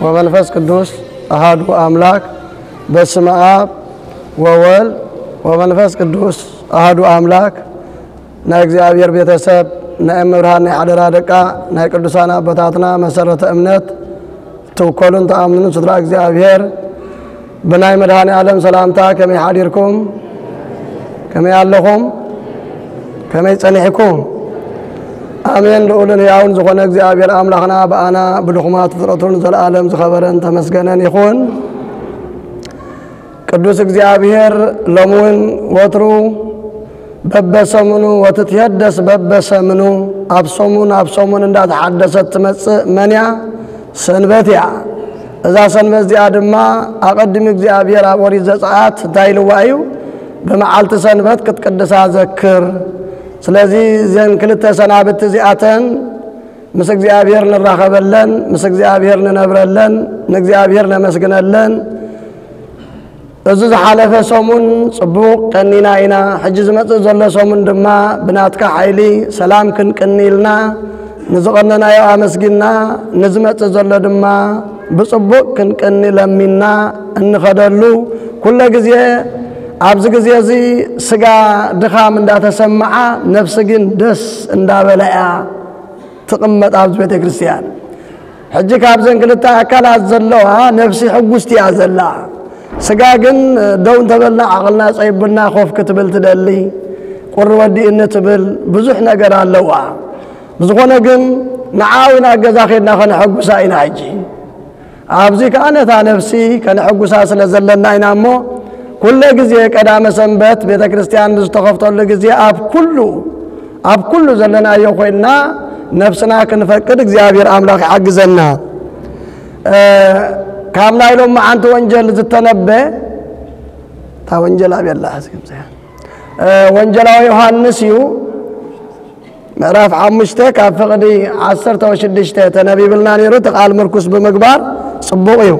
ወመንፈስ ቅዱስ ኣሃዱ ኣምላክ። በስመ ኣብ ወወልድ ወመንፈስ ቅዱስ ኣሃዱ ኣምላክ። ናይ እግዚኣብሔር ቤተሰብ፣ ናይ እመብርሃን ናይ ሓደራ ደቃ፣ ናይ ቅዱሳን ኣቦታትና መሰረተ እምነት፣ ትውከሉን ትኣምኑን ስድራ እግዚኣብሔር፣ ብናይ መድኃኔ ዓለም ሰላምታ ከመይ ሓዲርኩም? ከመይ ኣለኹም? ከመይ ጸኒሕኩም? ኣሜን። ልዑልን ሕያውን ዝኾነ እግዚኣብሔር ኣምላኽና ብኣና ብድኹማት ፍጥረቱን ዘለዓለም ዝኸበረን ተመስገነን ይኹን። ቅዱስ እግዚኣብሔር ሎሚ እውን ወትሩ በበሰሙኑ ወትትየደስ በበሰሙኑ፣ ኣብ ሰሙን ኣብ ሰሙን እንዳተሓደሰት ትመጽእ መን እያ? ሰንበት እያ። እዛ ሰንበት እዚኣ ድማ ኣቐድሚ እግዚኣብሔር ኣብ ኦሪት ዘጸኣት እንታይ ኢልዋ እዩ? ብመዓልቲ ሰንበት ክትቅድሳ ዘክር። ስለዚ እዘን ክልተ ሰናብቲ እዚኣተን ምስ እግዚኣብሔር ንራኸበለን፣ ምስ እግዚኣብሔር ንነብረለን፣ ንእግዚኣብሔር ነመስግነለን። እዚ ዝሓለፈ ሰሙን ጽቡቕ ቀኒና ኢና። ሕጂ ዝመጽእ ዘሎ ሰሙን ድማ ብናትካ ሓይሊ ሰላም ክንቅኒ ኢልና ንዝቐነናዮ ኣመስጊንና፣ ንዝመጽእ ዘሎ ድማ ብጽቡቕ ክንቅኒ ለሚንና እንኸደሉ፣ ኩለ ግዜ ኣብዚ ግዜ እዚ ስጋ ድኻም እንዳተሰምዓ፣ ነፍሲ ግን ደስ እንዳበላ እያ ትቕመጥ ኣብዚ ቤተ ክርስቲያን። ሕጂ ካብዘን ክልተ ኣካላት ዘለዋ ነፍሲ ሕጉስቲ እያ ዘላ። ስጋ ግን ደው እንተበልና ዓቕልና ጸይቡና ኮፍ ክትብል ትደሊ፣ ቁሪ ወዲእኒ ትብል፣ ብዙሕ ነገር ኣለዋ። ብዝኾነ ግን ንዓኣ እውን ኣብ ገዛ ኬድና ከነሐጉሳ ኢና። ሕጂ ኣብዚ ከኣ ነታ ነፍሲ ከነሐጉሳ ስለ ዘለና ኢና እሞ፣ ኩለ ግዜ ቀዳመ ሰንበት ቤተ ክርስቲያን ብዝተኸፍተሉ ግዜ ኣብ ኩሉ፣ ኣብ ኩሉ ዘለናዮ ኮይንና ነፍስና ክንፈቅድ እግዚኣብሔር ኣምላኽ ይሓግዘና። እ፣ ካብ ናይ ሎማዓንቲ ወንጀል ዝተነበ፣ እታ ወንጀል ኣበይ ኣላ? ሕዚ ከምዚኣ፣ እ፣ ወንጀላዊ ዮሃንስ እዩ። ምዕራፍ ሓሙሽተ ካብ ፍቕዲ ዓሰርተ ሽዱሽተ ተነቢብልና ነይሩ። እቲ ቃል ምርኩስ ብምግባር ጽቡቕ እዩ።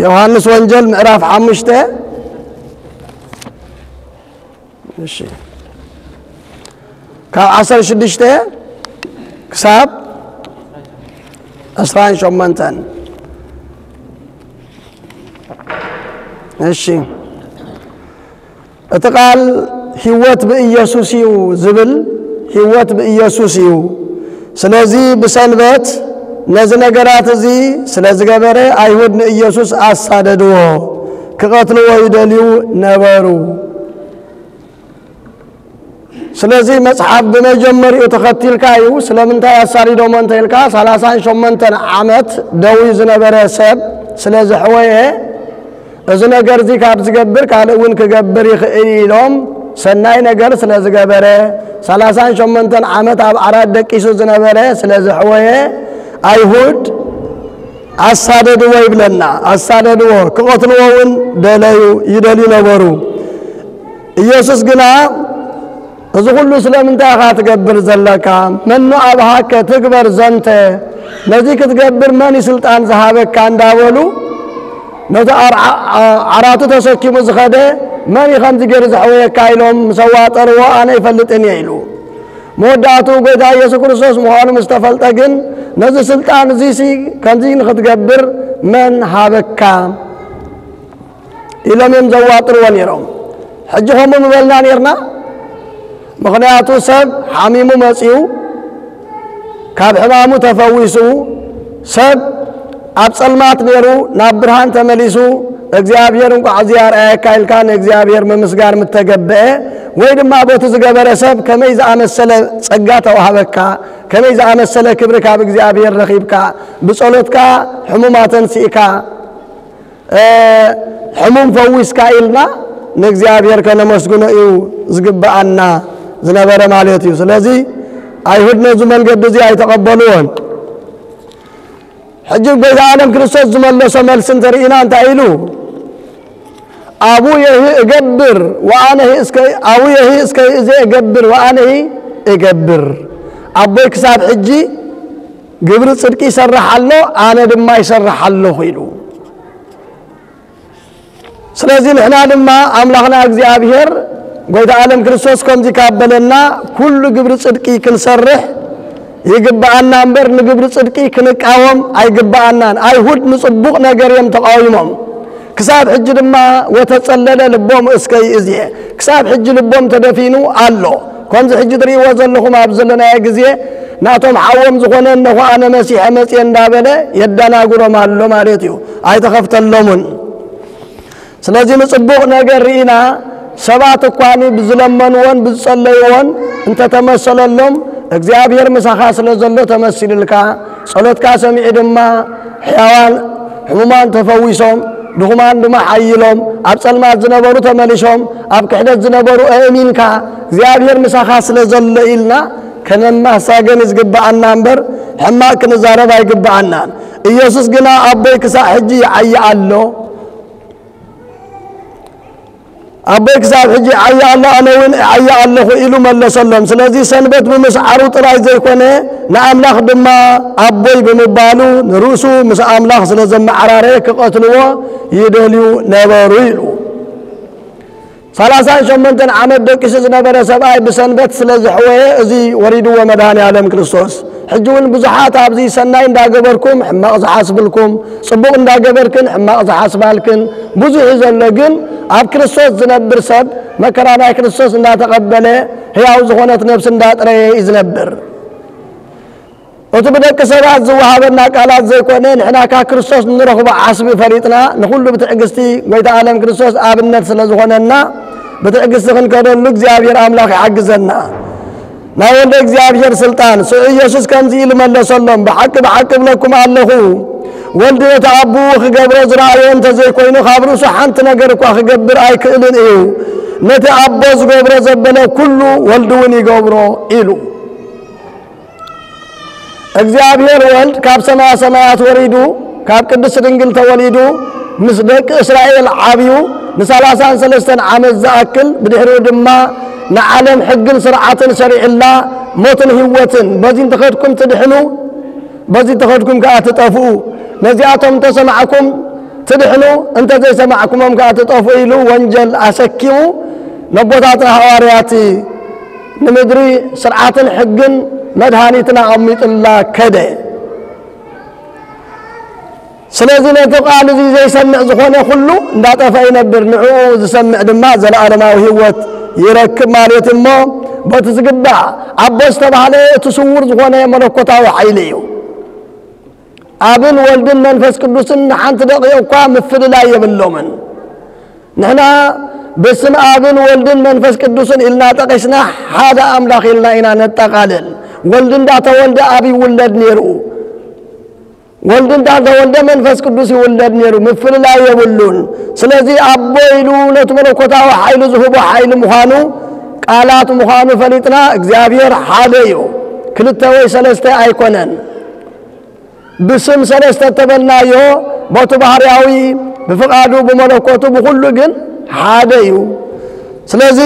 ዮሃንስ ወንጀል ምዕራፍ ሓሙሽተ፣ እሺ፣ ካብ ዓሰርተ ሽዱሽተ ክሳብ ዕስራን ሸሞንተን። እሺ፣ እቲ ቃል ህይወት ብኢየሱስ እዩ ዝብል፣ ህይወት ብኢየሱስ እዩ። ስለዚ ብሰንበት ነዚ ነገራት እዚ ስለ ዝገበረ፣ ኣይሁድ ንኢየሱስ ኣሳደድዎ፣ ክቐትልዎ ይደልዩ ነበሩ። ስለዚ መጽሓፍ ብመጀመሪኡ ተኸቲልካ እዩ። ስለምንታይ ኣሳዲዶሞ እንተ ኢልካ፣ ሰላሳን ሸሞንተን ዓመት ደዊ ዝነበረ ሰብ ስለ ዘሕወየ፣ እዚ ነገር እዚ ካብ ዝገብር ካልእ እውን ክገብር ይኽእል ኢሎም፣ ሰናይ ነገር ስለ ዝገበረ፣ ሰላሳን ሸሞንተን ዓመት ኣብ ዓራት ደቂሱ ዝነበረ ስለ ዘሕወየ፣ ኣይሁድ ኣሳደድዎ ይብለና። ኣሳደድዎ፣ ክቐትልዎ እውን ደለዩ፣ ይደልዩ ነበሩ። ኢየሱስ ግና፣ "እዚ ኹሉ ስለምንታይ ኢኻ ትገብር ዘለካ? መኑ ኣብሃከ ትግበር ዘንተ? ነዚ ክትገብር መን እዩ ስልጣን ዝሃበካ?" እንዳበሉ፣ ነቲ ኣርዓ-፣ ዓ-፣ ዓራቱ ተሰኪሙ ዝኸደ፣ "መን እዩ ከምዚ ገይሩ ዘሕወየካ?" ኢሎም ምስ ኣዋጠርዎ፣ "ኣነ ኣይፈልጥን እየ" ኢሉ። መወዳእትኡ ጐይታ ኢየሱስ ክርስቶስ ምዃኑ ምስ ተፈልጠ ግን፣ "ነዚ ስልጣን እዚሲ ከምዚ ንኽትገብር መን ሃበካ?" ኢሎም እዮም ዘዋጥርዎ ነይሮም። ሕጂ ከምኡ ምበልና ነይርና? ምኽንያቱ ሰብ ሓሚሙ መጺኡ፣ ካብ ሕማሙ ተፈዊሱ፣ ሰብ ኣብ ጸልማት ነይሩ ናብ ብርሃን ተመሊሱ፣ እግዚኣብሔር እንቋዕ እዚ ኣርኣየካ ኢልካ ንእግዚኣብሔር ምምስጋን ምተገብአ፣ ወይ ድማ በቲ ዝገበረ ሰብ ከመይ ዝኣመሰለ ጸጋ ተዋህበካ፣ ከመይ ዝኣመሰለ ክብሪ ካብ እግዚኣብሔር ረኺብካ፣ ብጸሎትካ ሕሙማት ኣንሲእካ፣ እ፣ ሕሙም ፈዊስካ ኢልና ንእግዚኣብሔር ከነመስግኖ እዩ ዝግብኣና ዝነበረ ማለት እዩ። ስለዚ ኣይሁድ ነዚ መንገዲ እዚ ኣይተቐበልዎን። ሕጂ ጎይታ ዓለም ክርስቶስ ዝመለሶ መልሲ እንተርኢና እንታይ ኢሉ? "ኣቡየሂ እገብር ወኣነሂ እስከ፣ ኣቡየሂ እስከ ይእዜ እገብር ወኣነሂ እገብር።" ኣቦይ ክሳብ ሕጂ ግብሪ ጽድቂ ይሰርሕ ኣሎ፣ ኣነ ድማ ይሰርሕ ኣለኹ ኢሉ። ስለዚ ንሕና ድማ ኣምላኽና እግዚኣብሔር ጎይታ ዓለም ክርስቶስ ከምዚ ካብ በለና፣ ኩሉ ግብሪ ጽድቂ ክንሰርሕ፣ ይግብኣና እምበር ንግብሪ ጽድቂ ክንቃወም ኣይግብኣናን። ኣይሁድ ንጽቡቕ ነገር እዮም ተቓዊሞም። ክሳብ ሕጂ ድማ ወተጸለለ ልቦም እስከ ይእዝየ። ክሳብ ሕጂ ልቦም ተደፊኑ ኣሎ። ከምዚ ሕጂ ትርእይዎ ዘለኹም ኣብ ዘለናዮ ግዜ ናቶም ሓዎም ዝኾነ እነሆ ኣነ መሲሐ መጽየ እንዳበለ የደናግሮም ኣሎ ማለት እዩ። ኣይተኸፍተሎምን። ስለዚ ንጽቡቕ ነገር ርኢና ሰባት እኳኒ ብዝለመንዎን ብዝጸለይዎን እንተተመሰለሎም እግዚኣብሔር ምሳኻ ስለ ዘሎ ተመሲልልካ፣ ጸሎትካ ሰሚዑ ድማ ሕያዋን ሕሙማን ተፈዊሶም፣ ድኹማን ድማ ሓይሎም፣ ኣብ ጸልማት ዝነበሩ ተመሊሶም፣ ኣብ ክሕደት ዝነበሩ ኣእሚንካ እግዚኣብሔር ምሳኻ ስለ ዘሎ ኢልና ከነማሳገን ዝግብኣና እምበር ሕማቕ ክንዛረብ ኣይግብኣናን። ኢየሱስ ግና ኣቦይ ክሳዕ ሕጂ ይዓዪ ኣሎ፣ ኣቦይ ክሳብ ሕጂ ይዓዪ ኣሎ፣ ኣነ እውን እዓዪ ኣለኹ ኢሉ መለሰሎም። ስለዚ ሰንበት ብምስዓሩ ጥራይ ዘይኮነ ንኣምላኽ ድማ ኣቦይ ብምባሉ ንርእሱ ምስ ኣምላኽ ስለ ዘመዓራረየ ክቐትልዎ ይደልዩ ነበሩ ኢሉ። ሰላሳን ሸሞንተን ዓመት ደቂሱ ዝነበረ ሰብኣይ ብሰንበት ስለ ዘሕወየ እዚ ወሪድዎ መድኃኔ ዓለም ክርስቶስ። ሕጂ እውን ብዙሓት ኣብዚ ሰናይ እንዳገበርኩም ሕማቕ ዝሓስብልኩም፣ ጽቡቕ እንዳገበርክን ሕማቕ ዝሓስባልክን ብዙሕ እዩ ዘሎ። ግን ኣብ ክርስቶስ ዝነብር ሰብ መከራ ናይ ክርስቶስ እንዳተቐበለ ሕያው ዝኾነት ነፍሲ እንዳጥረየ እዩ ዝነብር። እቲ ብደቂ ሰባት ዝወሃበና ቃላት ዘይኮነ ንሕና ካብ ክርስቶስ እንረኽቦ ዓስቢ ፈሊጥና ንኹሉ ብትዕግስቲ ጎይታ ዓለም ክርስቶስ ኣብነት ስለ ዝኾነና ብትዕግስቲ ክንከደሉ እግዚኣብሔር ኣምላኽ ይሓግዘና። ናይ ወልደ እግዚኣብሔር ስልጣን ስዑ ኢየሱስ ከምዚ ኢሉ መለሰሎም፣ ብሓቂ ብሓቂ እብለኩም ኣለኹ፣ ወልድ ነቲ ኣቦኡ ክገብሮ ዝረኣዮ እንተዘይኮይኑ ካብ ርእሱ ሓንቲ ነገር እኳ ክገብር ኣይክእልን እዩ። ነቲ ኣቦ ዝገብሮ ዘበለ ኩሉ ወልድ እውን ይገብሮ ኢሉ። እግዚኣብሔር ወልድ ካብ ሰማያ ሰማያት ወሪዱ ካብ ቅድስት ድንግል ተወሊዱ ምስ ደቂ እስራኤል ዓብዩ ንሰላሳን ሰለስተን ዓመት ዝኣክል ብድሕሪኡ ድማ ንዓለም ሕግን ስርዓትን ሰሪዕላ ሞትን ህይወትን በዚ እንተኸድኩም ትድሕኑ በዚ እንተኸድኩም ከኣ ትጠፍኡ ነዚኣቶም እንተሰማዕኩም ትድሕኑ እንተዘይሰማዕኩሞም ከኣ ትጠፍኡ ኢሉ ወንጀል ኣሰኪሙ ነቦታትና ሃዋርያት ንምድሪ ስርዓትን ሕግን መድሃኒትን ኣቐሚጥላ ከደ። ስለዚ ነቲ ቃል እዚ ዘይሰምዕ ዝኾነ ኩሉ እንዳጠፈ ይነብር፣ ንዕኡ ዝሰምዕ ድማ ዘለኣለማዊ ህይወት ይረክብ ማለት እሞ በቲ ዝግባእ ኣቦ ዝተባህለ እቲ ስውር ዝኾነ መለኮታዊ ሓይሊ እዩ። ኣብን ወልድን መንፈስ ቅዱስን ንሓንቲ ደቂቕ እኳ ምፍልላይ የብሎምን። ንሕና ብስም ኣብን ወልድን መንፈስ ቅዱስን ኢልና ጠቒስና ሓደ ኣምላኽ ኢልና ኢና ነጠቓልል። ወልድ እንዳተወልደ ኣብ ይውለድ ነይሩ። ወልድ እንዳተወልደ መንፈስ ቅዱስ ይውለድ ነይሩ። ምፍልላይ የብሉን። ስለዚ ኣቦ ኢሉ ነቲ መለኮታዊ ሓይሉ ዝህቦ ሓይሊ ምዃኑ ቃላት ምዃኑ ፈሊጥና እግዚኣብሔር ሓደ እዩ። ክልተ ወይ ሰለስተ ኣይኮነን። ብስም ሰለስተ እተበልናዮ በቱ ባህርያዊ ብፍቓዱ ብመለኮቱ ብኹሉ ግን ሓደ እዩ። ስለዚ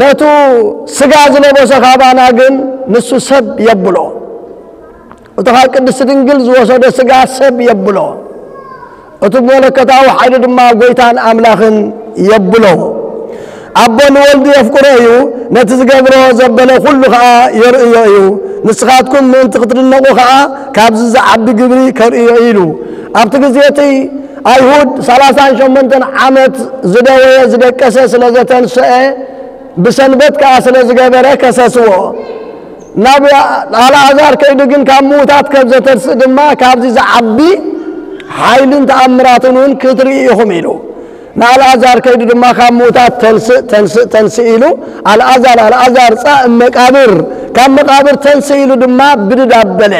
ነቱ ስጋ ዝለበሰ ካባና ግን ንሱ ሰብ የብሎ። እቲ ካብ ቅድስቲ ድንግል ዝወሰዶ ስጋ ሰብ የብሎ። እቲ መለኮታዊ ሓይሊ ድማ ጎይታን ኣምላኽን የብሎ። ኣቦ ንወልዱ የፍቅሮ እዩ፣ ነቲ ዝገብሮ ዘበለ ኩሉ ኸዓ የርእዮ እዩ። ንስኻትኩም ምእንቲ ክትድነቑ ኸዓ ካብዚ ዝዓቢ ግብሪ ከርእዮ ኢሉ። ኣብቲ ግዜ እቲ ኣይሁድ ሰላሳን ሸሞንተን ዓመት ዝደወየ ዝደቀሰ ስለ ዘተንስአ ብሰንበት ከኣ ስለ ዝገበረ ከሰስዎ። ናብ ኣልኣዛር ከይዱ ግን ካብ ምዉታት ከም ዘተንስእ ድማ ካብዚ ዝዓቢ ሓይልን ተኣምራትን እውን ክትርኢ ኢኹም ኢሉ። ንኣልኣዛር ከይዱ ድማ ካብ ምዉታት ተንስእ ተንስእ ተንስእ ኢሉ ኣልኣዛር ኣልኣዛር ጻእ መቃብር ካብ መቃብር ተንስእ ኢሉ ድማ ብድድ ኣበለ።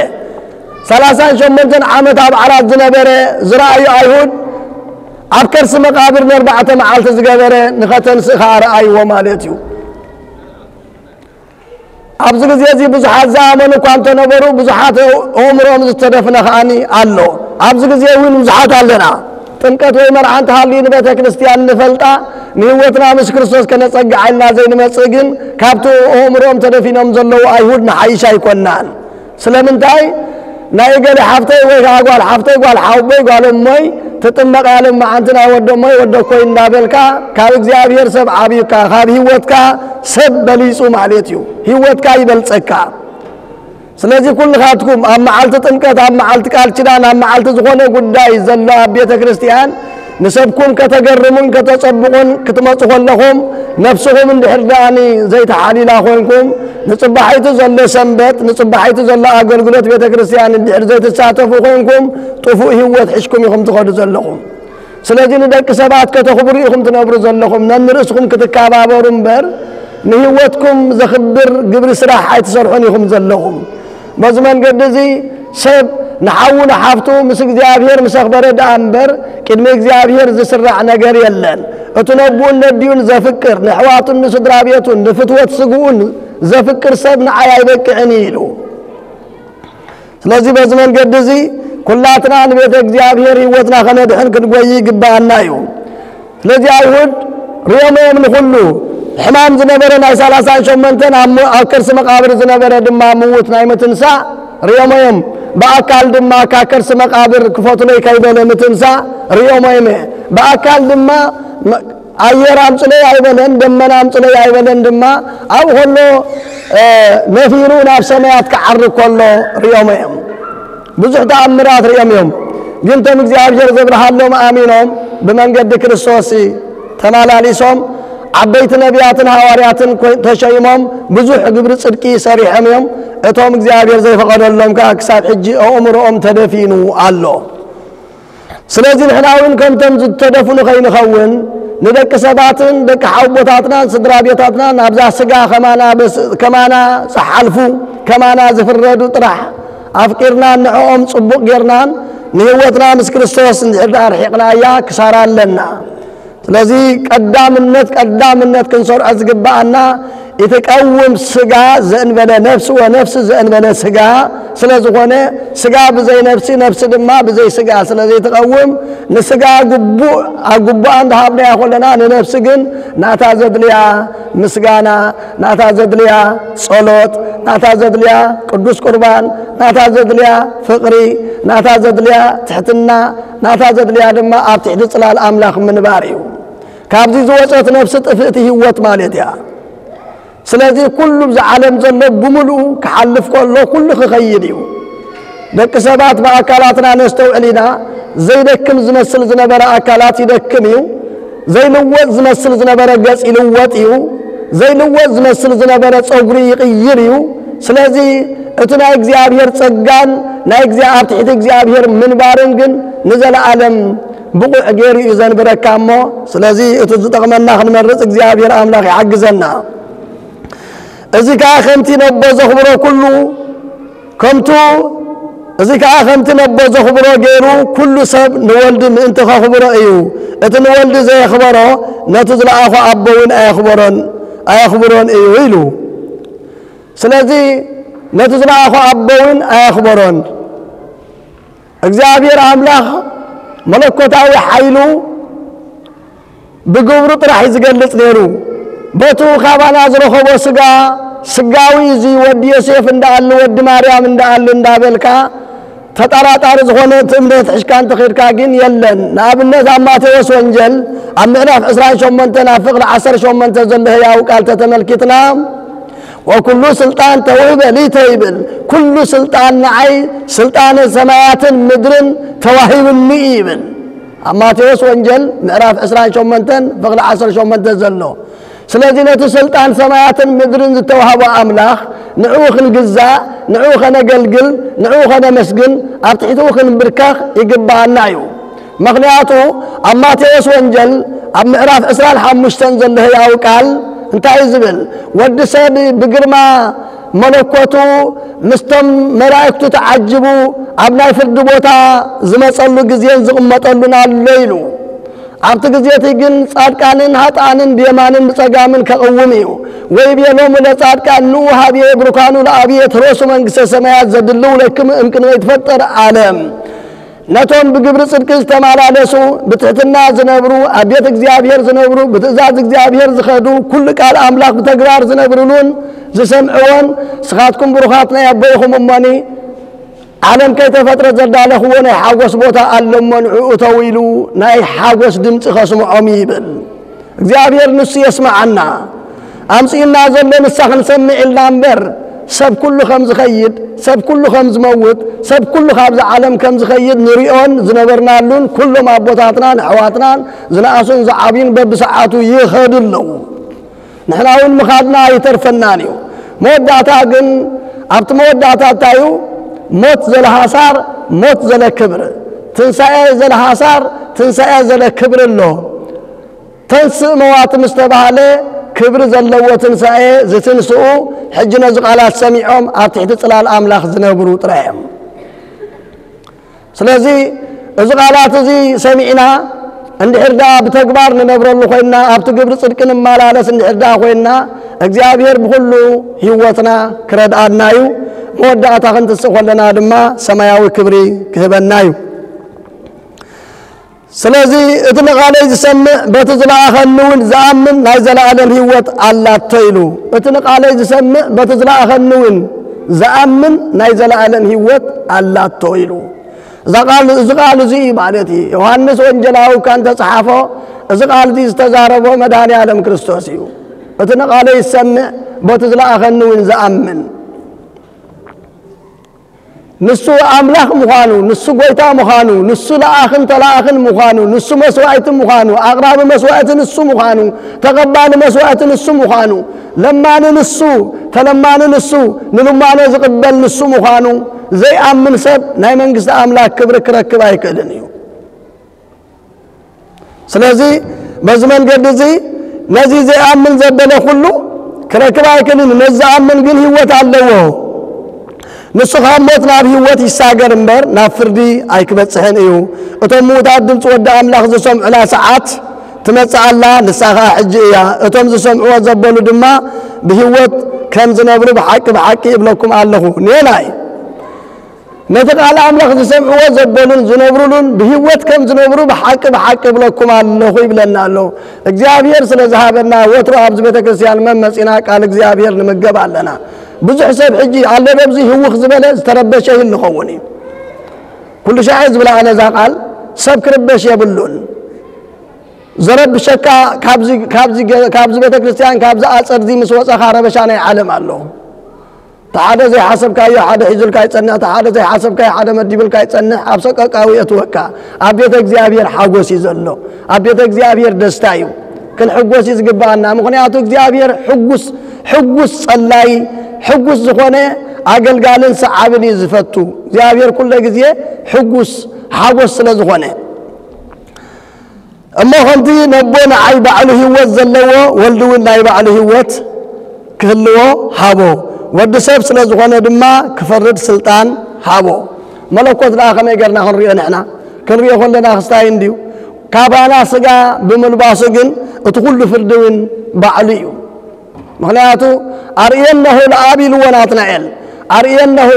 ሰላሳን ሸሞንተን ዓመት ኣብ ዓራት ዝነበረ ዝረኣዩ ኣይሁድ ኣብ ከርሲ መቃብር ነርባዕተ መዓልቲ ዝገበረ ንኸተንስእ ከኣ ረኣይዎ ማለት እዩ። ኣብዚ ግዜ እዚ ብዙሓት ዝኣመኑ እኳ እንተነበሩ ብዙሓት ኣእምሮኦም ዝተደፍነ ከኣኒ ኣሎ። ኣብዚ ግዜ እውን ብዙሓት ኣለና። ጥምቀት ወይ መርዓ እንተሃልዩ ንቤተ ክርስቲያን ንፈልጣ ንህይወትና ምስ ክርስቶስ ከነጸግዓ ኢልና ዘይንመጽእ ግን ካብቲ ኣእምሮኦም ተደፊኖም ዘለዉ ኣይሁድ ንሓይሽ ኣይኮናን። ስለምንታይ ናይ እገሌ ሓፍተይ ወይ ከዓ ጓል ሓፍተይ ጓል ሓወቦይ ጓል እሞይ ትጥመቕ ያለ መዓንቲ ናይ ወደ እሞይ ወደ እኮይ እንዳበልካ ካብ እግዚኣብሔር ሰብ ዓብዩካ ካብ ህይወትካ ሰብ በሊፁ ማለት እዩ። ህይወትካ ይበልፀካ። ስለዚ ኩልኻትኩም ኣብ መዓልቲ ጥምቀት፣ ኣብ መዓልቲ ቃል ኪዳን፣ ኣብ መዓልቲ ዝኾነ ጉዳይ ዘሎ ኣብ ቤተ ክርስቲያን ንሰብኩም ከተገርሙን ከተጸብቑን ክትመጹ ከለኹም፣ ነፍስኹም እንድሕር ደኣኒ ዘይተሓሊላ ኮይንኩም፣ ንጽባሒቱ ዘሎ ሰንበት፣ ንጽባሒቱ ዘሎ ኣገልግሎት ቤተ ክርስቲያን እንድሕር ዘይትሳተፉ ኮይንኩም፣ ጥፉእ ህይወት ሒዝኩም ኢኹም ትኸዱ ዘለኹም። ስለዚ ንደቂ ሰባት ከተኽብሩ ኢኹም ትነብሩ ዘለኹም፣ ነንርእስኹም ክትከባበሩ እምበር፣ ንህይወትኩም ዘኽብር ግብሪ ስራሕ ኣይትሰርሑን ኢኹም ዘለኹም። በዚ መንገዲ እዚ ሰብ ንሓዉ ንሓፍቱ ምስ እግዚኣብሔር ምስ ኣኽበረ ደኣ እምበር፣ ቅድሚ እግዚኣብሔር ዝስራዕ ነገር የለን። እቲ ነቦኡን ነዲኡን ዘፍቅር፣ ንኣሕዋቱን ንስድራ ቤቱን፣ ንፍትወት ስግኡን ዘፍቅር ሰብ ንዓይ ኣይበቅዕን እዩ ኢሉ። ስለዚ በዚ መንገዲ እዚ ኩላትና ንቤተ እግዚኣብሔር ህይወትና ከነድሕን ክንጎይ ይግብኣና እዩ። ስለዚ ኣይሁድ ርእዮም እዮም ንኹሉ ሕማም ዝነበረ ናይ ሰላሳን ሸሞንተን ኣብ ሞ-፣ ኣብ ከርሲ መቓብር ዝነበረ ድማ ምዉት ናይ ምትንሳእ ርእዮም እዮም። ብኣካል ድማ ካብ ከርሲ መቓብር ክፈትሎይ ከይበለ ምትንሳእ ርእዮም እዮም። ብኣካል ድማ መ-፣ ኣየር ኣምጽለይ ኣይበለን፣ ደመና ኣምጽለይ ኣይበለን ድማ፣ ኣብኡ ከሎ፣ እ፣ ነፊሩ ናብ ሰማያት ክዓርግ ከሎ ርእዮም እዮም። ብዙሕ ተኣምራት ርእዮም እዮም። ግን እቶም እግዚኣብሔር ዘብርሃሎም ኣሚኖም ብመንገዲ ክርስቶስ ተመላሊሶም ዓበይቲ ነቢያትን ሃዋርያትን ኮይ-፣ ተሸይሞም ብዙሕ ግብሪ ጽድቂ ሰሪሖም እዮም። እቶም እግዚኣብሔር ዘይፈቐደሎም ከኣ ክሳብ ሕጂ ኣእምሮኦም ተደፊኑ ኣሎ። ስለዚ ንሕና እውን ከምቶም ዝተደፍኑ ከይንኸውን፣ ንደቂ ሰባትን ደቂ ሓውቦታትናን ስድራ ቤታትናን ኣብዛ ስጋ ከማና በስ-፣ ከማና ዝሓልፉ፣ ከማና ዝፍረዱ ጥራሕ ኣፍቂርናን ንዕኦም ጽቡቕ ጌርናን ንህይወትና ምስ ክርስቶስ እንድሕር ደኣ ኣርሒቕናያ ክሳራ ኣለና። ስለዚ ቀዳምነት፣ ቀዳምነት ክንሰርዖ ዝግብኣና እቲ ቀውም ስጋ ዘእንበለ ነፍሲ ወነፍሲ ዘእንበለ ስጋ ስለ ዝኾነ፣ ስጋ ብዘይ ነፍሲ፣ ነፍሲ ድማ ብዘይ ስጋ ስለ ዘይትቐውም፣ ንስጋ ግቡእ፣ ኣብ ግቡኣ እንዳሃብናያ ከለና፣ ንነፍሲ ግን ናታ ዘድልያ ምስጋና፣ ናታ ዘድልያ ጸሎት፣ ናታ ዘድልያ ቅዱስ ቁርባን፣ ናታ ዘድልያ ፍቕሪ፣ ናታ ዘድልያ ትሕትና፣ ናታ ዘድልያ ድማ ኣብ ትሕቲ ጽላል ኣምላኽ ምንባር እዩ። ካብዚ ዝወጸት ነፍሲ ጥፍእቲ ህይወት ማለት እያ። ስለዚ ኩሉ ብዛ ዓለም ዘሎ ብምልኡ ክሓልፍ ከሎ ኩሉ ክኸይድ እዩ። ደቂ ሰባት ብኣካላትና ነስተውዕል ኢና። ዘይደክም ዝመስል ዝነበረ ኣካላት ይደክም እዩ። ዘይልወጥ ዝመስል ዝነበረ ገጽ ይልወጥ እዩ። ዘይልወጥ ዝመስል ዝነበረ ጸጉሪ ይቕይር እዩ። ስለዚ እቲ ናይ እግዚኣብሔር ጸጋን ናይ እግዚኣብ-፣ ኣብ ትሕቲ እግዚኣብሔር ምንባርን ግን ንዘለኣለም ብቑዕ ገይሩ እዩ ዘንብረካ እሞ፣ ስለዚ እቲ ዝጠቕመና ክንመርጽ እግዚኣብሔር ኣምላኽ ይሓግዘና። እዚ ከኣ ከምቲ ነቦ ዘኽብሮ ኩሉ፣ ከምቱ፣ እዚ ከኣ ከምቲ ነቦ ዘኽብሮ ገይሩ ኩሉ ሰብ ንወልዲ ምእንቲ ከኽብሮ እዩ። እቲ ንወልዲ ዘየኽበሮ ነቲ ዝለኣኾ ኣቦ እውን ኣየኽበሮን፣ ኣየኽብሮን እዩ ኢሉ። ስለዚ ነቲ ዝለኣኾ ኣቦ እውን ኣየኽበሮን። እግዚኣብሔር ኣምላኽ መለኮታዊ ሓይሉ ብግብሩ ጥራሕ እዩ ዝገልጽ ነይሩ። በቱ ካባና ዝረኸቦ ስጋ፣ ስጋዊ እዚ ወዲ ዮሴፍ እንዳኣሉ፣ ወዲ ማርያም እንዳኣሉ እንዳበልካ፣ ተጠራጣሪ ዝኾነ እቲ እምነት ሕሽካ እንተኸድካ ግን የለን። ንኣብነት ኣብ ማቴዎስ ወንጀል ኣብ ምዕራፍ ዕስራን ሸሞንተን ኣብ ፍቕዲ ዓሰርተ ሸሞንተ ዘሎ ህያው ቃል ተተመልኪትና፣ "ወኩሉ ስልጣን ተውህበ ሊተ" ይብል። ኩሉ ስልጣን ንዓይ፣ ስልጣነ ሰማያትን ምድርን ተዋሂብኒ እዩ ይብል። ኣብ ማቴዎስ ወንጀል ምዕራፍ ዕስራን ሸሞንተን ፍቕዲ ዓሰርተ ሸሞንተ ዘሎ። ስለዚ ነቲ ስልጣን ሰማያትን ምድርን ዝተዋህቦ ኣምላኽ ንዕኡ ክንግዛእ፣ ንዕኡ ከነገልግል፣ ንዕኡ ከነመስግን፣ ኣብ ትሕቲኡ ክንብርከኽ ይግብኣና እዩ። ምኽንያቱ ኣብ ማቴዎስ ወንጀል ኣብ ምዕራፍ ዕስራን ሓሙሽተን ዘሎ ህያው ቃል እንታይ እዩ ዝብል? ወዲ ሰብ ብግርማ መለኮቱ ምስቶም መላእክቱ ተዓጅቡ ኣብ ናይ ፍርዲ ቦታ ዝመጸሉ ግዜን ዝቕመጠሉን ኣሎ ኢሉ። ኣብቲ ግዜ እቲ ግን ጻድቃንን ሃጥኣንን ብየማንን ብጸጋምን ከቕውም እዩ። "ወይቤሎሙ ለጻድቃን ንዑ ሀብየ ብሩካኑ ለአብየ ትረሱ መንግስተ ሰማያት ዘድልው ለክሙ እምቅድመ ይትፈጠር ዓለም።" ነቶም ብግብሪ ጽድቂ ዝተመላለሱ፣ ብትሕትና ዝነብሩ፣ ኣብ ቤት እግዚኣብሔር ዝነብሩ፣ ብትእዛዝ እግዚኣብሔር ዝኸዱ፣ ኩሉ ቃል ኣምላኽ ብተግባር ዝነብርሉን ዝሰምዕዎን፣ ንስኻትኩም ብሩኻት ናይ ኣቦይኹም እሞኒ፣ ዓለም ከይተፈጥረ ዘዳለኽዎ ናይ ሓጎስ ቦታ ኣሎ እሞ ንዕኡ እተው ኢሉ ናይ ሓጎስ ድምፂ ከስምዖም ይብል። እግዚኣብሔር ንሱ የስምዓና። ኣምፅኡና ዘሎ ንሳ ክንሰምዕ ኢልና እምበር፣ ሰብ ኩሉ ከም ዝኸይድ፣ ሰብ ኩሉ ከም ዝመውት፣ ሰብ ኩሉ ካብዚ ዓለም ከም ዝኸይድ ንሪኦን ዝነበርናሉን ኩሎም ኣቦታትናን ኣሕዋትናን ዝነኣሱን ዝዓብዩን በብሰዓቱ ይኸዱ ኣለዉ። ንሕና እውን ምኻድና ኣይተርፈናን እዩ። መወዳእታ ግን ኣብቲ መወዳእታ እንታይ እዩ? ሞት ዘለሃሳር፣ ሞት ዘለክብር። ትንሳኤ ዘለሃሳር፣ ትንሳኤ ዘለክብር ኣሎ። ተንስእ መዋቲ ምስ ተባህለ ክብሪ ዘለዎ ትንሳኤ ዝትንስኡ ሕጂ ነዚ ቃላት ሰሚዖም ኣብ ትሕቲ ጽላል ኣምላኽ ዝነብሩ ጥራይ እዮም። ስለዚ እዚ ቃላት እዚ ሰሚዕና እንድሕር ደኣ ብተግባር ንነብረሉ ኮይንና ኣብቲ ግብሪ ጽድቂ ንመላለስ እንድሕር ደኣ ኮይንና እግዚኣብሔር ብኹሉ ህይወትና ክረድኣና እዩ። መወዳእታ ክንትስእ ከለና ድማ ሰማያዊ ክብሪ ክህበና እዩ። ስለዚ እቲ ንቓለይ ዝሰምዕ በቲ ዝለኣኸኒ እውን ዝኣምን ናይ ዘለኣለም ህይወት ኣላቶ ኢሉ። እቲ ንቓለይ ዝሰምዕ በቲ ዝለኣኸኒ እውን ዝኣምን ናይ ዘለኣለም ህይወት ኣላቶ ኢሉ። እዛ ቃል፣ እዚ ቃል እዚ እዩ ማለት እዩ። ዮሃንስ ወንጀላዊ እኳ እንተጸሓፎ፣ እዚ ቃል እዚ ዝተዛረቦ መድኃኔ ዓለም ክርስቶስ እዩ። እቲ ንቓለይ ዝሰምዕ በቲ ዝለኣኸኒ እውን ዝኣምን። ንሱ ኣምላኽ ምዃኑ፣ ንሱ ጎይታ ምዃኑ፣ ንሱ ለኣኽን ተላኣኽን ምዃኑ፣ ንሱ መስዋዕቲ ምዃኑ፣ ኣቕራቢ መስዋዕቲ ንሱ ምዃኑ፣ ተቐባሊ መስዋዕቲ ንሱ ምዃኑ፣ ለማኒ ንሱ፣ ተለማኒ ንሱ፣ ንልማኖ ዝቕበል ንሱ ምዃኑ ዘይኣምን ሰብ ናይ መንግስቲ ኣምላኽ ክብሪ ክረክብ ኣይክእልን እዩ። ስለዚ በዚ መንገዲ እዚ ነዚ ዘይኣምን ዘበለ ኩሉ ክረክብ ኣይክእልን። ነዚ ዝኣምን ግን ህይወት ኣለዎ። ንሱ ካብ ሞት ናብ ህይወት ይሳገር እምበር ናብ ፍርዲ ኣይክበጽሕን እዩ። እቶም ምዉታት ድምፂ ወዲ ኣምላኽ ዝሰምዑላ ሰዓት ትመጽእ ኣላ፣ ንሳ ኸዓ ሕጂ እያ። እቶም ዝሰምዕዎ ዘበሉ ድማ ብህይወት ከም ዝነብሩ ብሓቂ ብሓቂ እብለኩም ኣለኹ። ኔናይ ነቲ ቃል ኣምላኽ ዝሰምዕዎ ዘበሉን ዝነብሩሉን ብህይወት ከም ዝነብሩ ብሓቂ ብሓቂ እብለኩም ኣለኹ ይብለና ኣሎ። እግዚኣብሔር ስለ ዝሃበና ወትሩ ኣብዚ ቤተ ክርስቲያን መመጺና ቃል እግዚኣብሔር ንምገብ ኣለና። ብዙሕ ሰብ ሕጂ ኣሎ ዶብዚ ህውኽ ዝበለ ዝተረበሸ ይህሉ ኸውን እዩ። ኩሉ ሻዕ ዝብላ ኣነ እዛ ቃል ሰብ ክርበሽ የብሉን። ዘረብሸካ ካብዚ፣ ካብዚ ገ-፣ ካብዚ ቤተ ክርስቲያን ካብዚ ኣጸድዚ ምስ ወጸኻ ረበሻ ናይ ዓለም ኣሎ። እቲ ሓደ ዘይሓሰብካዮ ሓደ ሒዙልካ ይጸንሕ፣ እቲ ሓደ ዘይሓሰብካዮ ሓደ መዲቡልካ ይጸንሕ፣ ኣብ ሰቀቃዊ የእትወካ። ኣብ ቤተ እግዚኣብሔር ሓጎስ እዩ ዘሎ፣ ኣብ ቤተ እግዚኣብሔር ደስታ እዩ። ክንሕጎስ እዩ ዝግባኣና፣ ምኽንያቱ እግዚኣብሔር ሕጉስ፣ ሕጉስ ጸላይ፣ ሕጉስ ዝኾነ ኣገልጋልን ሰዓብን እዩ ዝፈቱ። እግዚኣብሔር ኩለ ግዜ ሕጉስ ሓጎስ ስለ ዝኾነ። እሞ ከምቲ ነቦ ንዓይ ባዕሉ ህይወት ዘለዎ፣ ወልዲ እውን ናይ ባዕሉ ህይወት ክህልዎ ሃቦ። ወዲ ሰብ ስለ ዝኾነ ድማ ክፈርድ ስልጣን ሃቦ። መለኮት ደኣ ከመይ ጌርና ክንሪኦ ንሕና? ክንሪኦ ከለና ክስታይ እንድዩ። ካባና ስጋ ብምልባሱ ግን እቲ ኩሉ ፍርዲ እውን ባዕሉ እዩ። ምኽንያቱ ኣርእየነሁ ለኣብ ኢልዎ ናትናኤል። ኣርእየነሁ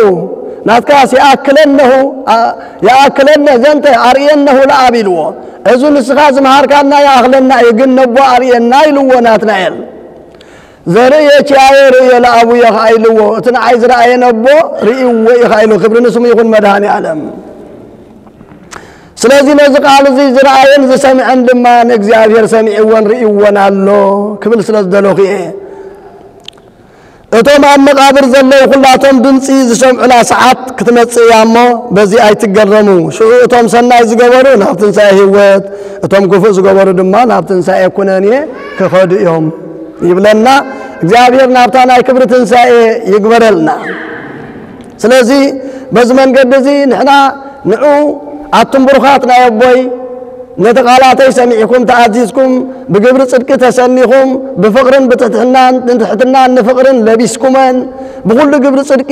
ናትካስ የኣክለነሁ፣ ኣ-፣ የኣክለነ ዘንተ ኣርእየነሁ ለኣብ ኢልዎ። እዚ ንስኻ ዝመሃርካና ይኣኽለና እዩ፣ ግን ነቦ ኣርእየና ኢልዎ ናትናኤል። ዘርእየ ኪያየ ርእየ ለኣቡየ ኸዓ ኢልዎ። እቲ ንዓይ ዝረኣየ ነቦ ርእይዎ እዩ ኸዓ ኢልዎ። ክብሪ ንስሙ ይኹን መድኃኔ ዓለም። ስለዚ ነዚ ቃል እዚ ዝረኣየን ዝሰምዐን ድማ ንእግዚኣብሔር ሰሚዕዎን ርእይዎን ኣሎ ክብል ስለ ዝደለኹ እየ። እቶም ኣብ መቓብር ዘለዉ ኩላቶም ድምፂ ዝሰምዑላ ሰዓት ክትመጽእ እያ እሞ በዚ ኣይትገረሙ። ሽዑ እቶም ሰናይ ዝገበሩ ናብ ትንሣኤ ህይወት፣ እቶም ክፉእ ዝገበሩ ድማ ናብ ትንሣኤ ኩነኔ ክኸዱ እዮም ይብለና። እግዚኣብሔር ናብታ ናይ ክብሪ ትንሣኤ ይግበረልና። ስለዚ በዚ መንገዲ እዚ ንሕና ንዑ ኣቱም ብሩኻት ናይ ኣቦይ ነቲ ቃላተይ ሰሚዕኩም ተኣዚዝኩም ብግብሪ ጽድቂ ተሰኒኹም ብፍቕርን ብትሕትናን ንትሕትናን ንፍቕርን ለቢስኩመን ብኹሉ ግብሪ ጽድቂ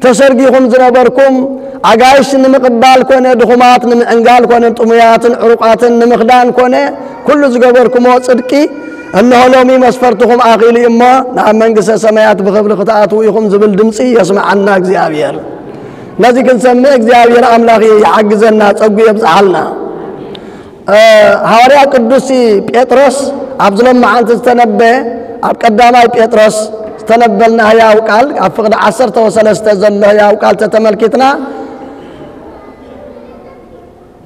ተሰርጊኹም ዝነበርኩም ኣጋይሽ ንምቕባል ኮነ ድኹማት ንምዕንጋል ኮነ ጥሙያትን ዕሩቓትን ንምኽዳን ኮነ ኩሉ ዝገበርኩሞ ጽድቂ እንሆ ሎሚ መስፈርትኹም ኣኺሉ እዩ እሞ ናብ መንግስተ ሰማያት ብኽብሪ ክትኣትዉ ኢኹም ዝብል ድምፂ የስምዓና እግዚኣብሔር። ነዚ ክንሰምዕ እግዚኣብሔር ኣምላኽ ይሓግዘና፣ ጸጉ የብዝሓልና። እ፣ ሃዋርያ ቅዱስ ጴጥሮስ ኣብዚ ሎማዓንቲ ዝተነበየ፣ ኣብ ቀዳማይ ጴጥሮስ ዝተነበልና ህያው ቃል፣ ኣብ ፍቕዲ ዓሰርተ ወሰለስተ ዘሎ ህያው ቃል ተተመልኪትና፣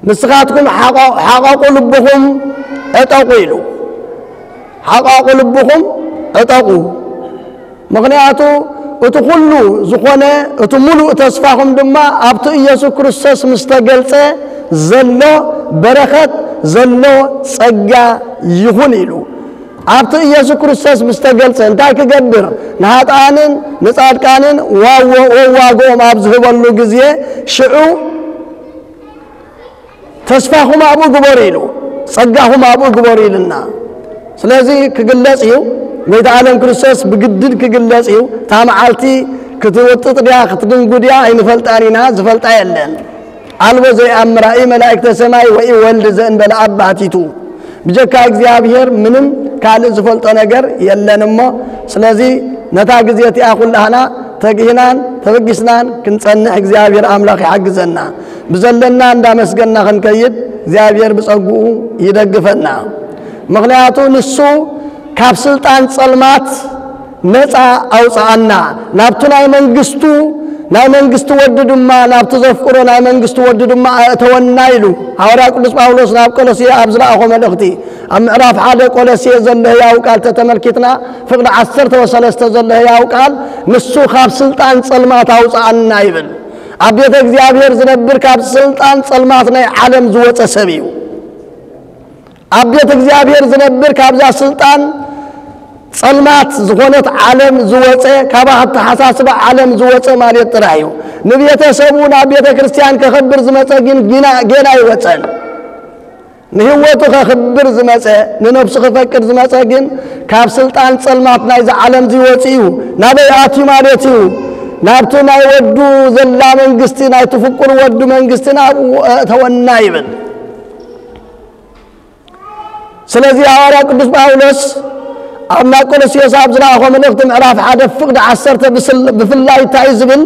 ንስኻትኩም ሓቆ-፣ ሓቐቑ ልብኹም ዕጠቑ ኢሉ። ሓቐቑ ልብኹም ዕጠቑ። ምኽንያቱ እቲ ኩሉ ዝኾነ፣ እቲ ሙሉእ ተስፋኹም ድማ ኣብቲ ኢየሱስ ክርስቶስ ምስ ተገልጸ ዘሎ በረኸት፣ ዘሎ ጸጋ ይኹን ኢሉ። ኣብቲ ኢየሱስ ክርስቶስ ምስ ተገልጸ እንታይ ክገብር? ንሃጥኣንን ንጻድቃንን ዋዎ-፣ ወዋግኦም ኣብ ዝህበሉ ግዜ፣ ሽዑ ተስፋኹም ኣብኡ ግበሩ ኢሉ፣ ጸጋኹም ኣብኡ ግበሩ ኢልና። ስለዚ ክግለጽ እዩ። ጎይታ ዓለም ክርስቶስ ብግድድ ክግለጽ እዩ። እታ መዓልቲ ክትውጥጥ ድያ ክትድንጉ ድያ ኣይንፈልጣን ኢና፣ ዝፈልጣ የለን። ኣልቦ ዘይኣምራ፣ ኢ መላእክተ ሰማይ ወኢ ወልድ ዘእንበለ ኣብ ባሕቲቱ። ብጀካ እግዚኣብሔር ምንም ካልእ ዝፈልጦ ነገር የለን እሞ፣ ስለዚ ነታ ግዜ እቲኣ ኩላህና ተግሂናን ተበጊስናን ክንጸንሕ እግዚኣብሔር ኣምላኽ ይሓግዘና። ብዘለና እንዳመስገና ክንከይድ እግዚኣብሔር ብጸግኡ ይደግፈና። ምኽንያቱ ንሱ ካብ ስልጣን ጸልማት ነፃ ኣውፅኣና፣ ናብቲ ናይ መንግስቱ፣ ናይ መንግስቲ ወዲ ድማ፣ ናብቲ ዘፍቅሮ ናይ መንግስቲ ወዲ ድማ ኣእተወና ኢሉ ሃዋርያ ቅዱስ ጳውሎስ ናብ ቆሎሴ ኣብ ዝለኣኾ መልእኽቲ፣ ኣብ ምዕራፍ ሓደ ቆሎሴ ዘሎ ህያው ቃል ተተመልኪትና፣ ፍቕዲ ዓሰርተ ወሰለስተ ዘሎ ህያው ቃል፣ ንሱ ካብ ስልጣን ጸልማት ኣውፅኣና ይብል። ኣብ ቤተ እግዚኣብሔር ዝነብር ካብ ስልጣን ጸልማት ናይ ዓለም ዝወፀ ሰብ እዩ። ኣብ ቤት እግዚኣብሔር ዝነብር ካብዛ ስልጣን ጸልማት ዝኾነት ዓለም ዝወፀ፣ ካብ ኣተሓሳስባ ዓለም ዝወፀ ማለት ጥራሕ እዩ። ንቤተሰቡ ናብ ቤተ ክርስቲያን ከኽብር ዝመፀ ግን ጊና-፣ ጌና ኣይወፀን። ንህይወቱ ከኽብር ዝመፀ፣ ንነብሱ ክፈቅድ ዝመፀ ግን ካብ ስልጣን ጸልማት ናይዛ ዓለም ዝወፅ እዩ። ናበይ ኣትዩ ማለት እዩ? ናብቲ ናይ ወዱ ዘላ መንግስቲ፣ ናይ ትፍቁር ወዱ መንግስቲ ናብኡ ኣእተወና ይብል። ስለዚ ሃዋርያ ቅዱስ ጳውሎስ ኣብ ናይ ቆሎስዮስ ኣብ ዝለኣኾ መልእኽቲ ምዕራፍ ሓደ ፍቕዲ ዓሰርተ ብስል-፣ ብፍላይ እንታይ እዩ ዝብል?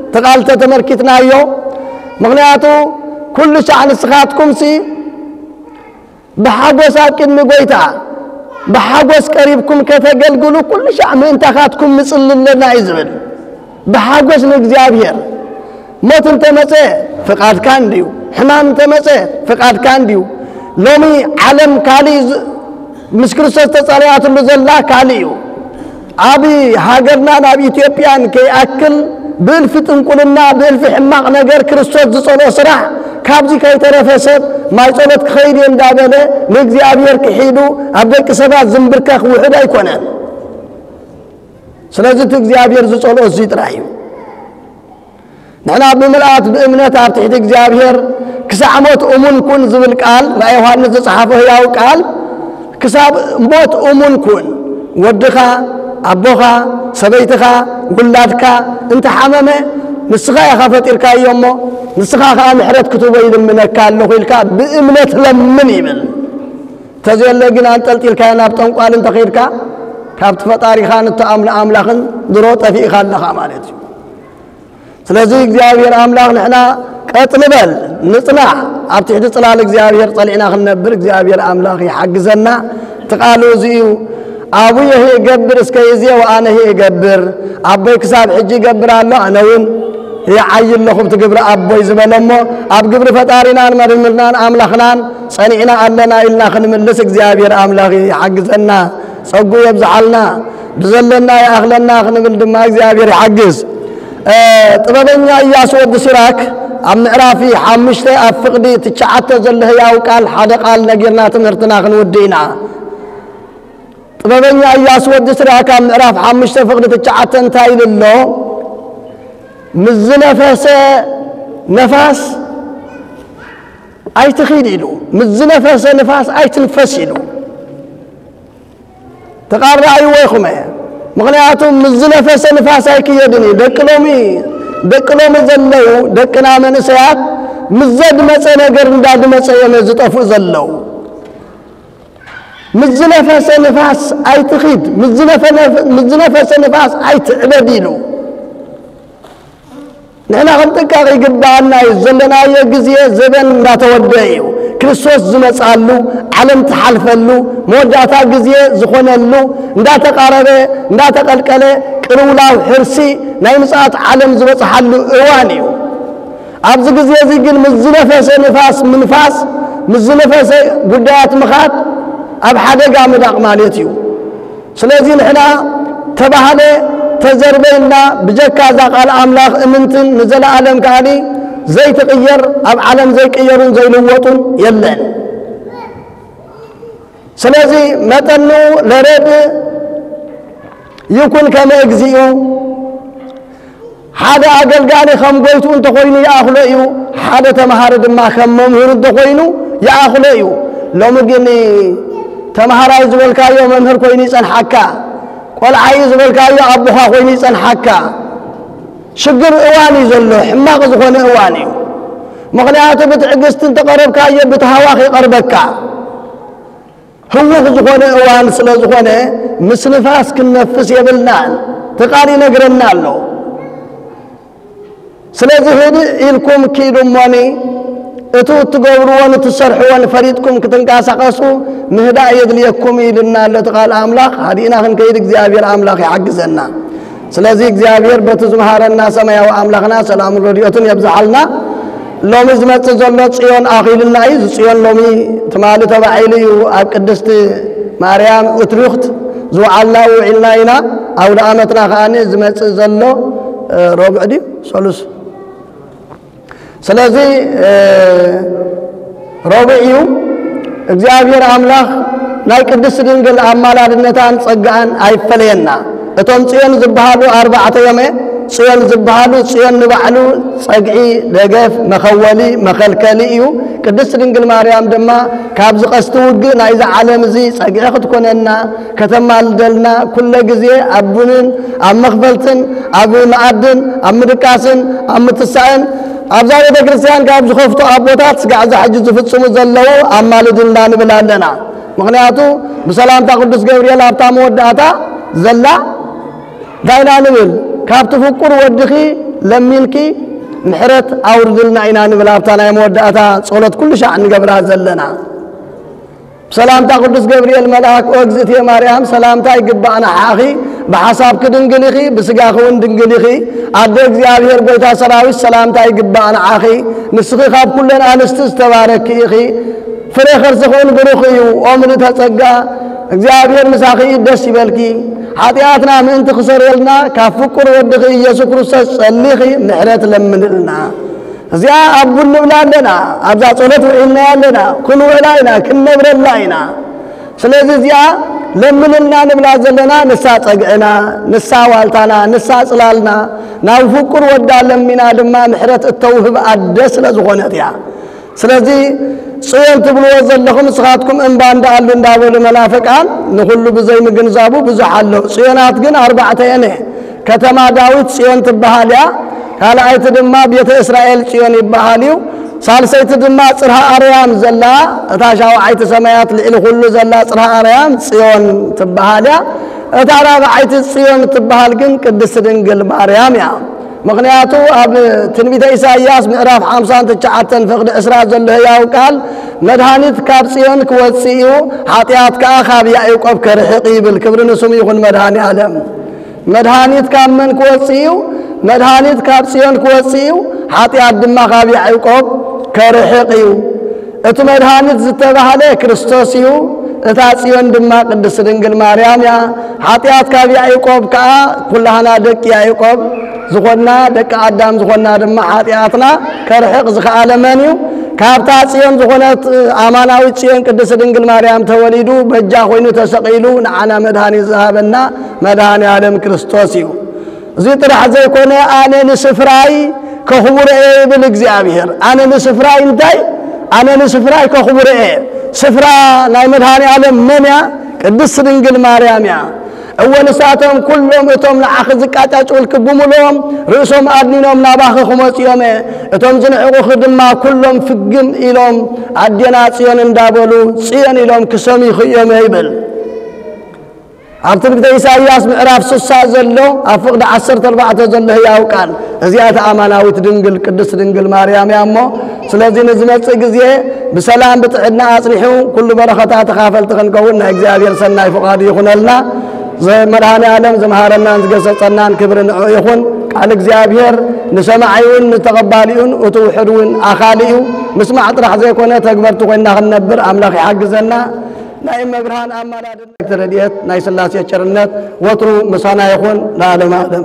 እቲ ቃል ተተመልኪትናዮ። ምኽንያቱ ኩሉ ሻዕ ንስኻትኩምሲ ብሓጎስ ኣብ ቅድሚ ጎይታ ብሓጎስ ቀሪብኩም ከተገልግሉ ኩሉ ሻዕ ምእንታኻትኩም ንጽሊ ኣለና እዩ ዝብል። ብሓጎስ ንእግዚኣብሔር። ሞት እንተመጸ ፍቓድካ እንድዩ፣ ሕማም እንተመጸ ፍቓድካ እንድዩ። ሎሚ ዓለም ካልእ ዝ-፣ ምስ ክርስቶስ ተጸሪያትሉ ዘላ ካልእ እዩ። ኣብ ሃገርናን ኣብ ኢትዮጵያን ከይኣክል ብእልፊ ጥንቁልና፣ ብእልፊ ሕማቕ ነገር ክርስቶስ ዝጸልኦ ስራሕ፣ ካብዚ ከይተረፈ ሰብ ማይ ጸሎት ክኸይድ እየ እንዳበለ ንእግዚኣብሔር ክሒዱ ኣብ ደቂ ሰባት ዝንብርከኽ ውሑድ ኣይኮነን። ስለዚ እቲ እግዚኣብሔር ዝጸልኦ እዚ ጥራይ እዩ። ንሕና ብምልኣት ብእምነት ኣብ ትሕቲ እግዚኣብሔር ክሳዕ ሞት እሙን ኩን ዝብል ቃል፣ ራእይ ዮሃንስ ዝጸሓፎ ህያው ቃል፣ ክሳብ ሞት እሙን ኩን። ወድኻ፣ ኣቦኻ፣ ሰበይትኻ፣ ውላድካ እንተሓመመ፣ ንስኻ ኢኻ ፈጢርካዮ እሞ፣ ንስኻ ኸኣ ምሕረት ክትቦ ይልምነካ ኣለኹ ኢልካ ብእምነት ለምን ይብል። ተዘየለ ግን ኣንጠልጢልካዮ ናብ ጠንቋል እንተኸይድካ፣ ካብቲ ፈጣሪኻን እተኣምኖ ኣምላኽን ድሮ ጠፊእኻ ኣለኻ ማለት እዩ። ስለዚ እግዚኣብሔር ኣምላኽ ንሕና ቀጥ ንበል፣ ንጽናዕ፣ ኣብ ትሕቲ ጽላል እግዚኣብሔር ጸሊዕና ክንነብር እግዚኣብሔር ኣምላኽ ይሓግዘና። እቲ ቃሉ እዚ እዩ፣ "ኣቡየ እገብር እስከ ይዜ ወኣነሂ እገብር"፣ ኣቦይ ክሳብ ሕጂ ይገብር ኣሎ፣ ኣነ እውን ይዓይ ኣለኹ ብቲ ግብሪ ኣቦይ ዝበለ እሞ፣ ኣብ ግብሪ ፈጣሪናን መርምርናን ኣምላኽናን ጸኒዕና ኣለና ኢልና ክንምልስ እግዚኣብሔር ኣምላኽ ይሓግዘና፣ ጸጉ የብዝሓልና፣ ብዘለና ይኣኽለና ክንብል ድማ እግዚኣብሔር ይሓግዝ። እ፣ ጥበበኛ ኢያሱ ወዲ ሲራክ ኣብ ምዕራፍ ሓሙሽተ ኣብ ፍቕዲ ትሽዓተ ዘሎ ህያው ቃል ሓደ ቃል ነጊርና ትምህርትና ክንውድእ ኢና። ጥበበኛ ኢያሱ ወዲ ሲራክ ኣብ ምዕራፍ ሓሙሽተ ፍቕዲ ትሽዓተ እንታይ ኢሉ ኣሎ? "ምስ ዝነፈሰ ነፋስ ኣይትኺድ" ኢሉ፣ "ምስ ዝነፈሰ ንፋስ ኣይትንፈስ" ኢሉ። ተቓራይዎ ኢኹም። ምኽንያቱ ምስ ዝነፈሰ ንፋስ ኣይክየድን እዩ። ደቂ ሎሚ፣ ደቂ ሎሚ ዘለዉ ደቅና መንእሰያት ምስ ዘድመጸ ነገር እንዳድመጸ እዮም ዝጠፍኡ ዘለዉ። "ምስ ዝነፈሰ ንፋስ ኣይትኺድ፣ ምስ ዝነፈ-፣ ምስ ዝነፈሰ ንፋስ ኣይትዕበድ" ኢሉ። ንሕና ክንጥንቀቕ ይግብኣና እዩ። ዘለናዮ ግዜ ዘበን እንዳተወደአ እዩ። ክርስቶስ ዝመጽኣሉ፣ ዓለም ትሓልፈሉ፣ መወዳእታ ግዜ ዝኾነሉ እንዳተቓረበ፣ እንዳተቐልቀለ፣ ቅልውላው ሕርሲ ናይ ምጽኣት ዓለም ዝበጽሓሉ እዋን እዩ። ኣብዚ ግዜ እዚ ግን ምስ ዝነፈሰ ንፋስ ምንፋስ፣ ምስ ዝነፈሰ ጉዳያት ምኻድ ኣብ ሓደጋ ምዳቕ ማለት እዩ። ስለዚ ንሕና ተባህለ ተዘርበይና ብጀካ እዛ ቃል ኣምላኽ እምንትን ንዘለኣለም ከኣኒ ዘይትቕየር ኣብ ዓለም ዘይቅየሩን ዘይልወጡን የለን። ስለዚ መጠኑ ለረድ ይኩን ከመ እግዚኡ፣ ሓደ ኣገልጋሊ ከም ጎይቱ እንተኾይኑ ይኣኽሎ እዩ፣ ሓደ ተምሃሪ ድማ ከም መምህሩ እንተኾይኑ ይኣኽሎ እዩ። ሎሚ ግን ተምሃራይ ዝበልካዮ መምህር ኮይኑ ይጸንሓካ፣ ቆልዓይ ዝበልካዮ ኣቦኻ ኮይኑ ይጸንሓካ። ሽግር እዋን እዩ ዘሎ፣ ሕማቕ ዝኾነ እዋን እዩ። ምኽንያቱ ብትዕግስቲ እንተቐረብካዮ ብትሃዋኽ ይቐርበካ። ህውኽ ዝኾነ እዋን ስለ ዝኾነ ምስ ንፋስ ክንነፍስ የብልናን። እቲ ቃል ይነግረና ኣሎ። ስለዚ ህድእ ኢልኩም ኪዱ እሞኒ፣ እቱ እትገብርዎን እትሰርሕዎን ፈሊጥኩም ክትንቀሳቐሱ ምህዳእ የድልየኩም ኢልና ኣሎ እቲ ቃል ኣምላኽ። ሃዲእና ክንከይድ እግዚኣብሔር ኣምላኽ ይሓግዘና። ስለዚ እግዚኣብሔር በቲ ዝመሃረና ሰማያዊ ኣምላኽና ሰላምን ረድኤቱን የብዝሓልና። ሎሚ ዝመጽእ ዘሎ ጽዮን ኣኺልና እዩ። እዚ ጽዮን ሎሚ ትማሊ ተባዒሉ እዩ። ኣብ ቅድስቲ ማርያም እትሪኽት ዝወዓልና ውዒልና ኢና። ኣውደ ኣመትና ከኣ ዝመጽእ ዘሎ ረቡዕ ድዩ ሰሉስ? ስለዚ ረቡዕ እዩ። እግዚኣብሔር ኣምላኽ ናይ ቅድስቲ ድንግል ኣማላድነታን ጸጋኣን ኣይፈለየና። እቶም ጽዮን ዝበሃሉ ኣርባዕተ እዮም። ጽዮን ዝበሃሉ ጽዮን ንባዕሉ ጸግዒ፣ ደገፍ፣ መኸወሊ፣ መኸልከሊ እዩ። ቅድስቲ ድንግል ማርያም ድማ ካብዚ ቀስቲ ውግእ ናይዚ ዓለም እዚ ጸግዒ ክትኮነና ከተማልደልና ኩለ ግዜ ኣብ ቡንን ኣብ መኽፈልትን ኣብ መኣድን ኣብ ምድቃስን ኣብ ምትሳእን ኣብዛ ቤተ ክርስቲያን ካብ ዝኸፍቱ ኣቦታት ስጋዕ እዛ ሕጂ ዝፍጽሙ ዘለዉ ኣማልድልና ንብል ኣለና። ምኽንያቱ ብሰላምታ ቅዱስ ገብርኤል ኣብታ መወዳእታ ዘላ እንታይ ኢና ንብል? ካብቲ ፍቁር ወድኺ ለሚንኪ ምሕረት ኣውርድልና ኢና ንብል። ኣብታ ናይ መወዳእታ ጸሎት ኩሉ ሻዕ ንገብራ ዘለና። ብሰላምታ ቅዱስ ገብርኤል መልኣክ፣ ኦ እግዝእትየ ማርያም፣ ሰላምታ ይግባእ ንዓኺ፣ ብሓሳብኪ ድንግል ኢኺ፣ ብስጋኺ እውን ድንግል ኢኺ። ኣደ እግዚኣብሔር ጐይታ ሰራዊት፣ ሰላምታ ይግባእ ንዓኺ። ንስኺ ካብ ኩለን ኣንስቲ ዝተባረኪ ኢኺ፣ ፍሬ ከርስኺ እውን ብሩኽ እዩ። ኦ ምልእተ ጸጋ፣ እግዚኣብሔር ምሳኺ እዩ፣ ደስ ይበልኪ። ሓጢኣትና ምእንቲ ክሰረየልና፣ ካብ ፍቁር ወድኺ ኢየሱስ ክርስቶስ ጸሊኺ ምሕረት ለምንልና። እዚኣ ኣብ ቡን ንብላ ኣለና፣ ኣብዛ ጸሎት ውዒልና ኣለና፣ ክንውዕላ ኢና፣ ክንነብረላ ኢና። ስለዚ እዚኣ ለምንልና ንብላ ዘለና ንሳ ጸግዕና፣ ንሳ ዋልታና፣ ንሳ ጽላልና፣ ናብ ፍቁር ወዳ ለሚና ድማ ምሕረት እተውህብ ኣደ ስለ ዝኾነት እያ። ስለዚ ጽዮን ትብልዎ ዘለኹም ንስኻትኩም እምባ እንዳኣሉ እንዳበሉ መናፍቃን ንኹሉ ብዘይምግንዛቡ ብዙሕ ኣሎ። ጽዮናት ግን ኣርባዕተ እየን። ከተማ ዳዊት ጽዮን ትበሃል እያ። ካልኣይቲ ድማ ቤተ እስራኤል ጽዮን ይበሃል እዩ። ሳልሰይቲ ድማ ጽርሃ ኣርያም ዘላ፣ እታ ሻውዓይቲ ሰማያት ልዕሊ ኩሉ ዘላ ጽርሃ ኣርያም ጽዮን ትበሃል እያ። እታ ራብዓይቲ ጽዮን ትበሃል ግን ቅድስቲ ድንግል ማርያም እያ። ምኽንያቱ ኣብ ትንቢተ ኢሳይያስ ምዕራፍ ሓምሳን ትሽዓተን ፍቕዲ ዕስራ ዘሎ ህያው ቃል፣ መድሃኒት ካብ ጽዮን ክወጽእ እዩ፣ ሓጢኣት ከኣ ካብ ያዕቆብ ከርሕቕ ይብል። ክብሪ ንስሙ ይኹን መድሃኒ ዓለም። መድሃኒት ካብ መን ክወጽእ እዩ? መድሃኒት ካብ ጽዮን ክወጽእ እዩ፣ ሓጢኣት ድማ ካብ ያዕቆብ ከርሕቕ እዩ። እቲ መድሃኒት ዝተባህለ ክርስቶስ እዩ። እታ ጽዮን ድማ ቅድስቲ ድንግል ማርያም እያ። ሓጢኣት ካብ ያዕቆብ ከኣ ኩላህና ደቂ ያዕቆብ ዝኾንና፣ ደቂ ኣዳም ዝኾንና ድማ ሓጢኣትና ከርሕቕ ዝኸኣለ መን እዩ? ካብታ ጽዮን ዝኾነት ኣማናዊት ጽዮን ቅድስቲ ድንግል ማርያም ተወሊዱ በጃ ኮይኑ ተሰቒሉ ንዓና መድሃኒት ዝሃበና መድሃኒ ዓለም ክርስቶስ እዩ። እዚ ጥራሕ ዘይኮነ፣ ኣነ ንስፍራይ ከኽብሮ እየ ይብል እግዚኣብሔር። ኣነ ንስፍራይ እንታይ? ኣነ ንስፍራይ ከኽብሮ እየ። ስፍራ ናይ መድሃኒ ዓለም መን እያ? ቅድስቲ ድንግል ማርያም እያ። እወ፣ ንሳቶም ኩሎም እቶም ንዓኺ ዝቃጫጭውልኪ ብምሉኦም ርእሶም ኣድኒኖም ናባኺ ክመጹ እዮም። እቶም ዝንዕቑኺ ድማ ኩሎም ፍግም ኢሎም ኣዴና ጽዮን እንዳበሉ ጽዮን ኢሎም ክሰምዩኺ እዮም ይብል። ኣብ ትንቢተ ኢሳይያስ ምዕራፍ ስሳ ዘሎ ኣብ ፍቕዲ ዓሰርተ ኣርባዕተ ዘሎ ህያው ቃል፣ እዚኣ እታ ኣማናዊት ድንግል ቅድስት ድንግል ማርያም እያ እሞ፣ ስለዚ ንዝመጽእ ግዜ ብሰላም ብጥዕና ኣጽኒሑ ኩሉ በረኸታ ተኻፈልቲ ክንከውን ናይ እግዚኣብሔር ሰናይ ፍቓዱ ይኹነልና። ዘ-፣ መድኃኔ ዓለም ዝመሃረናን ዝገሰጸናን ክብሪ ንዑ ይኹን። ቃል እግዚኣብሔር ንሰማዒውን ንተቐባሊኡን እቲ ውሑድ እውን ኣኻሊ እዩ። ምስማዕ ጥራሕ ዘይኮነ ተግበርቲ ኮይንና ክንነብር ኣምላኽ ይሓግዘና። ናይ እመብርሃን ኣማላድነት፣ ረድኤት ናይ ሥላሴ ቸርነት ወትሩ ምሳና ይኹን ለዓለመ ዓለም።